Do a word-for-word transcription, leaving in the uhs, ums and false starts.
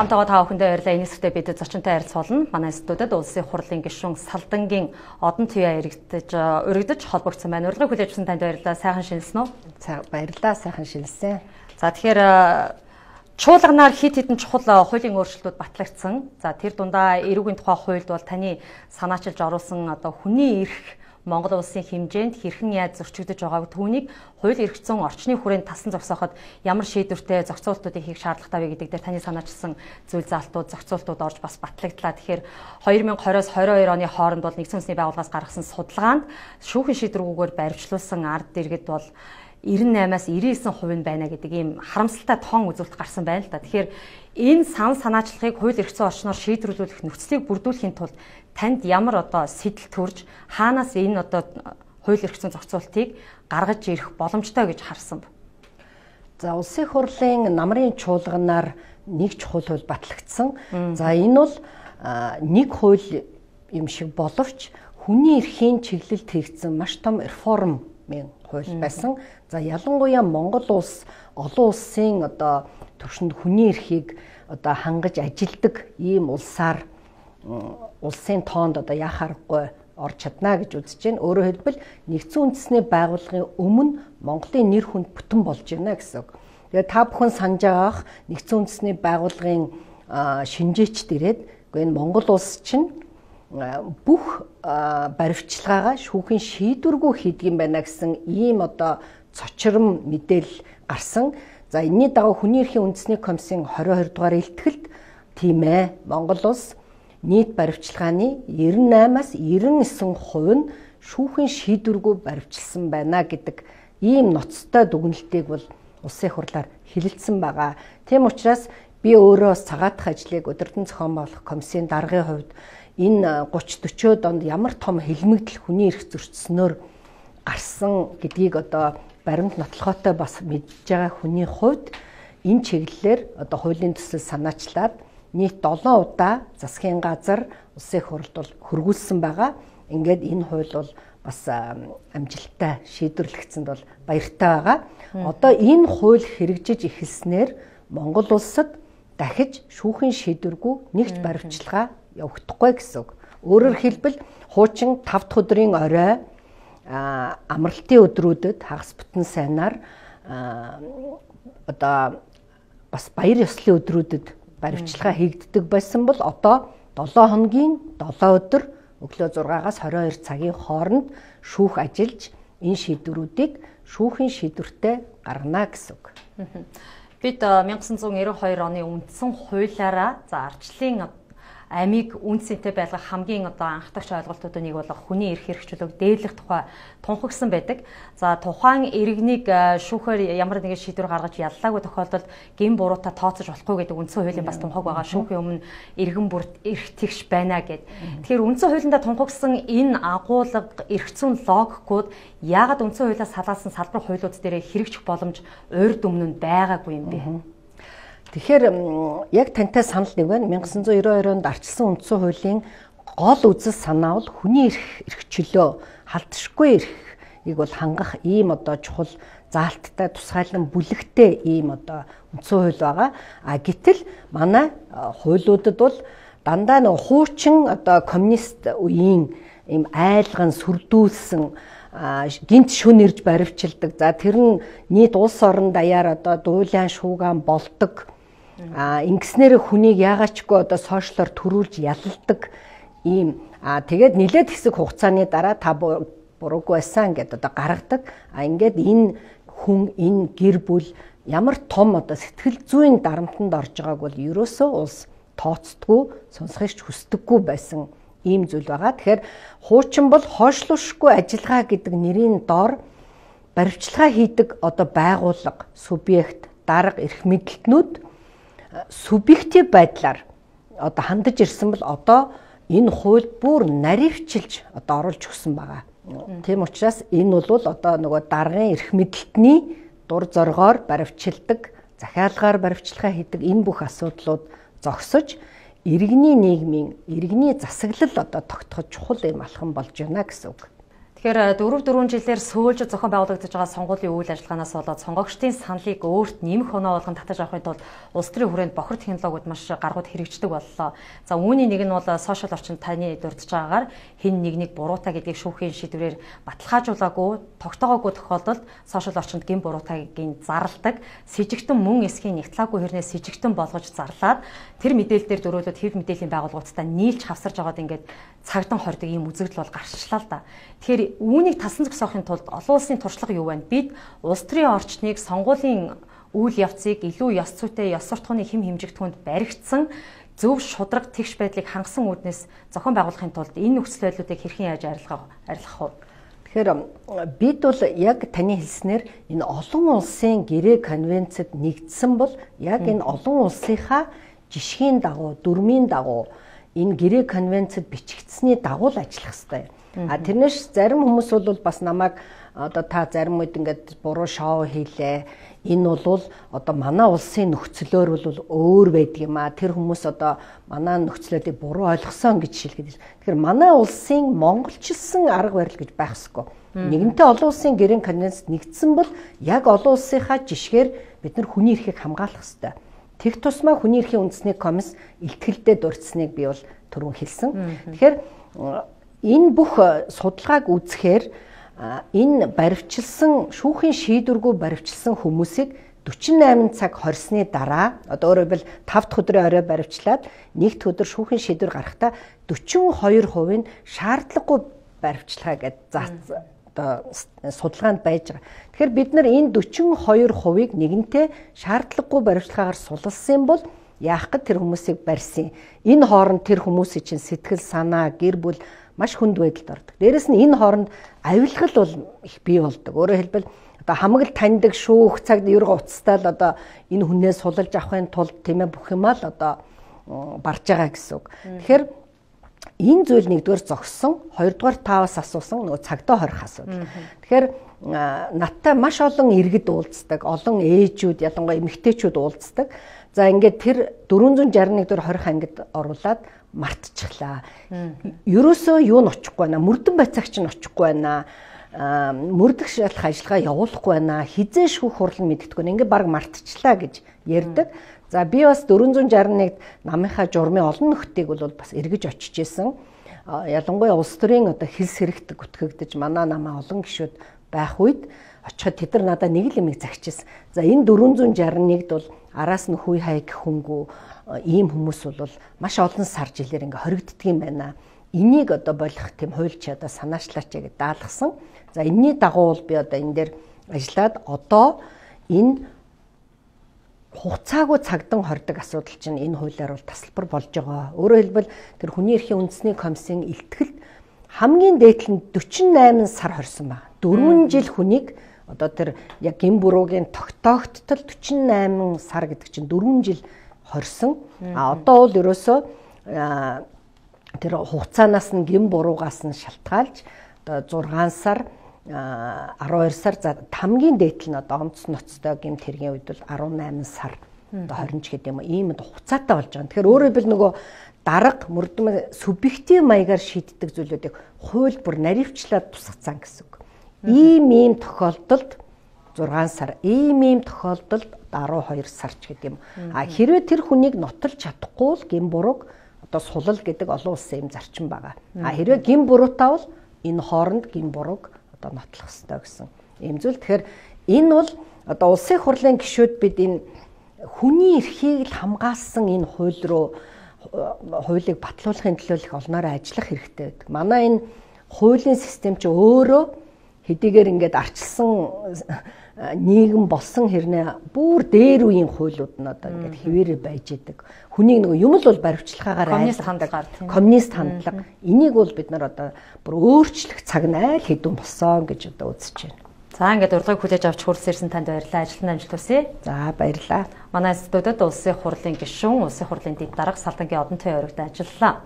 Хамтдаа та бүхэндээ баярлалаа. Энэ хэсэгтээ бид зочинтой харилцуулна. Манай студид улсын хурлын гишүүн Салдангийн Одон Туяа иргэдэж өргөдөж холбогдсон байна. Урилгыг хүлээж авсан танд баярлалаа. Сайхан шинэлсэн үү? Баярлалаа, сайхан шинэлсэн. За тэгэхээр чуулганаар хит хитэн чухал хуулийн өөрчлөлтүүд батлагдсан. За тэр дундаа эрүүгийн тухай хуульд бол таны санаачилж оруулсан одоо хүний эрх Монгол улсын хэмжээнд хэрхэн яаж зөрчигдөж байгааг түүнийг хууль эрхцэн орчны хүрээнд тасан зогсооход ямар шийдвэртэй зохицуултуудыг хийх шаардлагатай вэ гэдэг дээр таны санаачилсан зүйл заалтууд, зохицуултууд орж бас батлагдлаа. Тэгэхээр две тысячи двадцать-аас двадцать two оны хооронд бол нэгдсэн үндэсний байгууллагаас гаргасан судалгаанд шүүхийн шийдвэргүйгээр баримтлуулсан ард иргэд бол ninety-eight-аас ninety-nine хувь байна гэдэг ийм харамсалтай тоон үзүүлэлт гарсан байна л да. Тэгэхээр энэ сан санаачлагыг хууль эрх зүйн орчноор шийдвэрлүүлэх нөхцөлийг бүрдүүлэхийн тулд танд ямар одоо сэтэл төрж хаанаас энэ одоо хууль эрх зүйн зохицуултыг гаргаж ирэх боломжтой гэж харсан бэ? За улсын хурлын намрын чуулганаар нэг чухал хууль батлагдсан. За энэ бол нэг хууль юм шиг боловч хүний эрхийн чиглэлд хийгдсэн маш том реформын хууль байсан. За ялангуяа Монгол улс олон улсын одоо түвшинд хүний эрхийг одоо хангаж ажилдаг ийм улсаар улсын тоонд одоо яхаарахгүй орж чадна гэж үзэж байна. Өөрөөр хэлбэл нэгдсэн үндэсний байгууллагын өмнө Монголын нэр хүнд бүтэн болж байна гэсэн үг. Тэгээ та бүхэн санаж байгаах нэгдсэн үндэсний байгууллагын шинжээчд ирээд энэ Монгол улс чинь бүх баривчилгаагаа шүүхийн шийдвэргүй хийдэг юм байна гэсэн ийм одоо цочром мэдээлэл гарсан. За энэний дагуу хүний эрхийн үндэсний комиссийн twenty-two дугаар илтгэлд тийм ээ Монгол улс нийт баривчилгааны ninety-eight-аас ninety-nine хувь нь шүүхийн шийдвэргүй баривчилсан байна гэдэг ийм ноцтой дүгнэлтийг бол улсын хурлаар хэлэлцсэн байгаа. Тийм учраас би өөрөө цагаатах ажлыг удирдан зохион байгуулах комиссийн даргын хувьд энэ thirty forty онд ямар том хэлмэгдэл хүний эрх зөрчснөөр гарсан гэдгийг одоо баримт нотлохотой бас мэдж байгаа хүний хувьд энэ чиглэлээр одоо хуулийн төсөл санаачлаад нийт seven удаа засгийн газар улсын хурлд бол хөргүүлсэн байгаа. Ингээд энэ хууль бол бас амжилттай шийдвэрлэгдсэнд бол баяртай байгаа. Одоо энэ хууль хэрэгжиж эхэлснээр Монгол улсад дахиж шүүхийн шийдвэргүй нэгт баривчилгаа явагдахгүй гэсэн үг. Өөрөөр хэлбэл хуучин five дахь өдрийн орой амралтын өдрүүдэд хагас бүтэн сайнаар одоо бас баяр ёслолын өдрүүдэд баривчилгаа хийгддэг байсан бол одоо seven хоногийн seven өдөр өглөө six-аас twenty-two цагийн хооронд шүүх ажиллаж энэ шийдвэрүүдийг шүүхийн шийдвэртэй гаргана гэсэн үг. Бид nineteen ninety-two оны үндсэн хуулиараа за арчлын амийг үнцэнтэй байлгах хамгийн одоо анхдагч ойлголтуудын нэг бол хүний эрх хэрэгжүүлэг дээдлэх тухай тунхагсан байдаг. За тухайн иргэнийг шүүхээр ямар нэгэн шийдвэр гаргаж яллаагүй тохиолдолд гин буруутай тооцож болохгүй гэдэг үндсэн хуулийн бас тунхаг байгаа. Шүүхийн өмнө иргэн бүрт эрх тэгш байна гэд. Тэгэхээр үндсэн хуулиндаа тунхагсан энэ агуулга эрх зүйн логикууд яагаад үндсэн хуулиас салаалсан салбар хуулиуд дээр хэрэгжих боломж урьд өмнө нь байгаагүй юм бэ? Тэгэхээр яг тантай санал нэг байна. nineteen ninety-two онд арчилсан үндсэн хуулийн гол үзэл санаа бол хүний эрх эрхчлөө халдшгүй эрхийг бол хангах ийм одоо чухал заалттай тусгайлан бүлэгтэй ийм одоо үндсэн хууль байгаа. А гэтэл манай хуулиудад бол дандаа нэг хуучин одоо коммунист үеийн ийм айлган сүрдүүлсэн гинт шүн ирж баривчилдаг. За тэр нь нийт улс орон даяар одоо дуулаан шуугаан болдог. А ингэснээр хүнийг яагаачгүй одоо сошиалор төрүүлж ялалдаг ийм а тэгээд нэлээд хэсэг хугацааны дараа та буруугүй байсан гэдээ одоо гаргадаг. А ингээд энэ хүн энэ гэр бүл ямар том одоо сэтгэл зүйн дарамтанд орж байгааг бол ерөөсөө улс тооцдгүй, сонсохыг хүсдэггүй байсан ийм зүйл байгаа. Тэгэхээр хуучин бол хойшлуулшгүй ажиллагаа гэдэг нэрийн доор баривчилгаа хийдэг одоо байгууллага, субъект, дарга, эрх мэдлэлтнүүд субъектив байдлаар одоо хандаж ирсэн бол одоо энэ хууль бүр наривчилж одоо оруулж өгсөн байгаа. Тийм учраас энэ бол одоо нөгөө даргын эрх мэдлэлтний дур зоргоор баривчилдаг, захиалгаар баривчилгаа хийдэг энэ бүх асуудлууд зогсож иргэний нийгмийн иргэний засаглал одоо тогтоход чухал юм алхам болж байна гэсэн үг. Тэгэхээр дөрөв дөрвөн жилээр сөүлж зохион байгуулагдаж байгаа сонгуулийн үйл ажиллагаанаас болоод сонгогчдын саналыг өөрт нэмэх оноо болгон татаж авахын тулд улс төрийн хүрээнд бохир технологиуд маш гаргууд хэрэгждэг боллоо. За үүний нэг нь бол сошиал орчинд таны дурдж байгаагаар хэн нэгнийг буруутай гэдгийг шүүхийн шийдвэрээр баталгаажуулаагүй, тогтоогоогүй тохиолдолд сошиал орчинд гин буруутайгийн зарладаг, с жигтэн мөн эсхийн нэгтлаагүй хэрнээс с жигтэн болгож зарлаад тэр мэдээлэлээр дөрөөлөд хэв мэдээллийн байгууллагуудтай нийлж хавсарж байгаад ингээд цагдан хордог ийм үзэгдэл бол гарчлаа л да. Тэгэхээр үүнийг тасан зогсоохын тулд олон улсын туршлага юу вэ? Бид улс төрийн орчныг сонгуулийн үйл явцыг илүү ёс зүйтэй, ёс суртахууны хэм хэмжигдэхүүнд баригдсан зөв шудраг тэгш байдлыг хангасан үүднээс зохион байгуулахын тулд энэ нөхцөл байдлуудыг хэрхэн яаж арилгах арилгах вэ? Тэгэхээр бид бол яг таны хэлснээр энэ олон улсын гэрээ конвенцэд нэгдсэн бол яг энэ олон улсынхаа жишгийн дагуу, дүрмийн дагуу энэ гэрээ конвенцэд бичигдсэний дагуу л ажиллах хэрэгтэй. А тэрнээс зарим хүмүүс бол бас намайг одоо та зарим үед ингээд буруу шоу хийлээ. Энэ бол одоо манай улсын нөхцлөөр бол өөр байдаг юм а. Тэр хүмүүс одоо манай нөхцлөлийг буруу ойлгосон гэж шилжүүлж байна. Тэгэхээр манай улсын монголчилсан арга барил гэж байх ёсгүй. Нэгэнтээ олон улсын гэрээ конвенцэд нэгдсэн бол яг олон улсынхаа жишгээр бид нар хүний эрхийг хамгаалах хэрэгтэй. Тэг тусмаа хүний эрхийн үндэсний комисс илтгэлдээ дурдсныг би бол түрүүн хэлсэн. Тэгэхээр энэ бүх судалгааг үзэхээр энэ баривчилсан шүүхийн шийдвэргүй баривчилсан хүмүүсийг дөрвөн найман цаг хорсны дараа одоо өөрөөр хэлбэл тав дахь өдрийн орой баривчлаад нэгд өдөр шүүхийн шийдвэр гаргахдаа дөрвөн хоёр хувийн шаардлагагүй баривчлага гэдэг одоо судалгаанд байж байгаа. Тэгэхээр бид нар энэ дөрвөн хоёр хувийг нэгэнтээ шаардлагагүй баривчлагаар суллсан бол яах гэд тэр хүмүүсийг барьсан. Энэ хооронд тэр хүмүүсийн чинь сэтгэл санаа, гэр бүл маш хүнд байдалд ордог. Дээрэс нь энэ хооронд авилгал бол их бий болдог. Өөрөөр хэлбэл одоо хамаг таньдаг шүүх цагт ерг уцтаал одоо энэ хүнээс суллаж авахын тулд тийм ээ бүх юмаа л одоо барж байгаа гэсэн үг. Тэгэхээр энэ зүйл нэгдүгээр зогссон, хоёрдугаар таавас асуусан нөгөө цагдаа хорих асуудал. Тэгэхээр надтай маш олон иргэд уулздаг, олон ээжүүд, ялангуяа эмэгтэйчүүд уулздаг. За ингээд тэр дөрвөн шарь нэг дээр хорих ангид оруулаад мартчихлаа. Ерөөсөө юу нь очихгүй байна. Мөрдөн байцаагч нь очихгүй байна. Мөрдөх шалах ажиллагаа явуулахгүй байна. Хизээ шүүх хурал нь мэддэггүй. Ингээд баг мартчихлаа гэж ярьдаг. За би бас дөрвөн шарь нэгд намынхаа журмын олон нөхдийг бол бас эргэж очиж исэн. Ялангуяа улс төрийн одоо хэлс хэрэгт гүтгэгдэж манай намаа олон гишүүд байх үед очиход тэд нар надад нэг л юмыг загчижсэн. За энэ дөрвөн шарь нэгд бол араас нь хүй хайг хөнгүү ийм хүмүүс бол маш олон сар жилээр ингээ хоригддаг юм байна. Энийг одоо болох тийм хуульч одоо санаачлаач гэж даалгасан. За энэний дагуу бол би одоо энэ дээр ажиллаад одоо энэ хугацаагүй цагдан хордог асуудал чинь энэ хуулиар бол тасалбар болж байгаа. Өөрөөр хэлбэл тэр хүний эрхийн үндэсний комиссийн илтгэлд хамгийн дээдл нь дөрвөн найман сар хорсон байна. дөрвөн жил хүнийг одоо тэр яг гин буруугийн тогтоогдтол дөрвөн найман сар гэдэг чинь дөрвөн жил хорсон. А одоо бол ерөөсөө тэр хугацаанаас нь гин буруугаас нь шалтгаалж одоо зургаан сар арван хоёр сар за хамгийн дээдл нь одоо онц ноцтой гэмт хэргийн үед бол арван найман сар одоо хорин ч гэдэг юм ийм хугацаатай болж байгаа. Тэгэхээр өөрөөр хэлбэл нөгөө дарга мөрдөн субъектив маягаар шийддэг зүйлүүдийг хууль бүр наривчлаад тусгацсан гэсэн үг. Ийм ийм тохиолдолд зургаан сар, ийм ийм тохиолдолд арван хоёр сар ч гэдэг юм. А хэрвээ тэр хүнийг нотолж чадахгүй бол гин бурууг одоо сулал гэдэг олон улсын юм зарчим байгаа. А хэрвээ гин буруутай бол энэ хооронд гин бурууг одоо нотлох ёстой гэсэн ийм зүйл. Тэгэхээр энэ бол одоо улсын хурлын гишүүд бид энэ хүний эрхийг л хамгаалсан энэ хууль руу хуулийг батлуулахын төлөө их олноороо ажиллах хэрэгтэй байдаг. Манай энэ хуулийн систем чи өөрөө хэдийгээр ингээд арчилсан нийгэм болсон хэрнээ бүр дээр үеийн хуулиуд нь одоо ингээд хэвээрээ байж идэг. Хүнийг нөгөө юм л бол баривчлагаагаар коммунист хандлага, коммунист хандлага. Энийг бол бид нар одоо бүр өөрчлөх цаг нь айл хэдэн болсон гэж одоо үзэж байна. За ингээд урилгыг хүлээж авч хүрсэн ирсэн танд баярлалаа. Ажилтнаа амжилт хүсье. За баярлалаа. Манай студид улсын хурлын гишүүн, улсын хурлын дэд дарга Салдангийн Одон төвийн ойрогт ажиллалаа.